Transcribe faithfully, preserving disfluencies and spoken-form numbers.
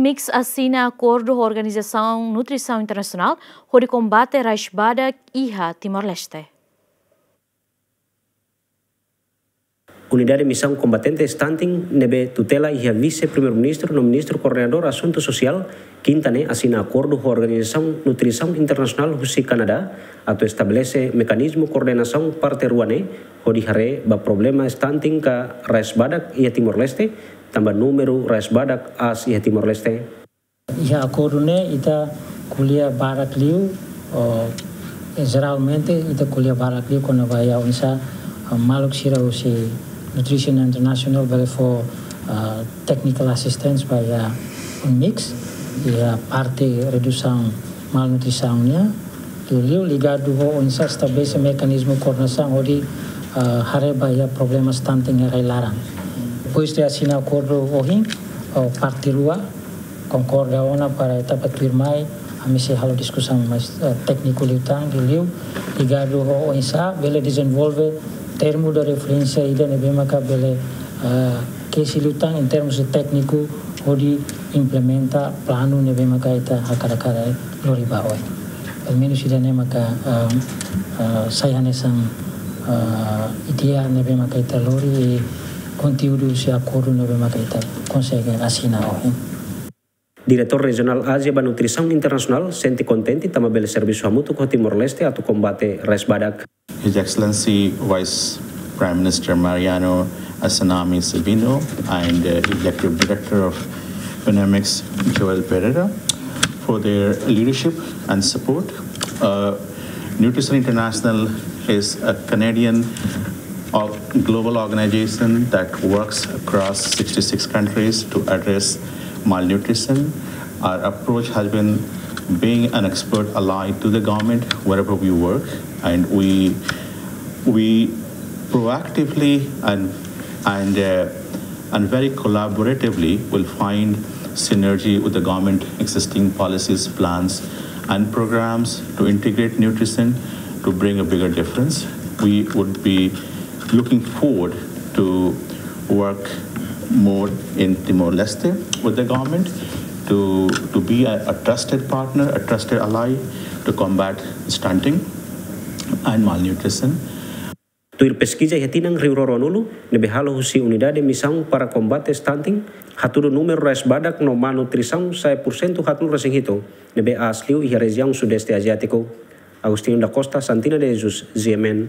MICS asina akordu ho Organizasaun Nutrisaun Internasionál hodi kombate rais badak iha Timor-Leste. Unidade Misaun Kombatente Stunting ne'ebé tutela iha Vise-Primeiru-Ministru no Ministru Koordenadór Asuntu Sosiál, Kinta ne'e asina akordu ho Organizasaun Nutrisaun Internasionál husi Kanadá atu estabelese mekanizmu koordenasaun parte rua ne'e hodi haree ba problema stunting ka rais badak iha Timor-Leste, tanba númeru rais badak aas iha Timor-Leste. Iha akordu ne'e ita ko'alia barak liu, o, e, jeralmente ita ko'alia barak liu kona-ba iha oinsá, ah, maluk sira husi Nutrition International bele fó, ah, technical assistance ba iha MICS, iha parte redusaun malnutrisaun nian, liuliu ligadu ho oinsá estabelese mekanizmu koordenasaun hodi, ah, haree ba iha problema stunting iha rai-laran. Depois de asina akordu ohin, o, parte rua konkorda ona para etapa tuirmai, ami sei halo diskusaun mais, eh, tékniku liután, liuliu ligadu ho oinsá bele dezenvolve termu de referénsia ida ne'ebé maka bele, eh, kesi liután em termos de tékniku hodi implementa planu ne'ebé maka ita hakarak hakarak lori ba oin. Pelumenus ida-ne'e maka, eh, eh, sai hanesan, eh, ideia ne'ebé maka ita lori i konteúdu husi akordu ne'ebé maka ita konsege asina ohin. Diretór Rejionál Ázia ba Nutrisaun Internasionál sente kontente tanba bele servisu hamutuk ho Timor-Leste atu kombate rais badak. His Excellency Vice Prime Minister Mariano Assanami Sabino and, uh, Executive Director of PNMX, Joel Pereira, for their leadership and support. Uh, Nutrition International is a Canadian or-, global organization that works across sixty-six countries to address malnutrition. Our approach has been being an expert ally to the government wherever we work, and we, we proactively and, and, uh, and very collaboratively will find synergy with the government existing policies, plans, and programs to integrate nutrition to bring a bigger difference. We would be looking forward to work more in Timor-Leste with the government to, to be a, a trusted partner, a trusted ally to combat stunting and malnutrition. Tuir peskiza iha tinan rihun rua ruanulu ne'ebé halo husi Unidade Misaun para Kombate Stunting, hatudu númeru rais badak no malnutrisaun sai pursentu haatnulu resin hitu, ne'ebé aas liu iha rejiaun Sudeste Aziátiku. Agostinho da Costa, Santina de Jesus, G M N.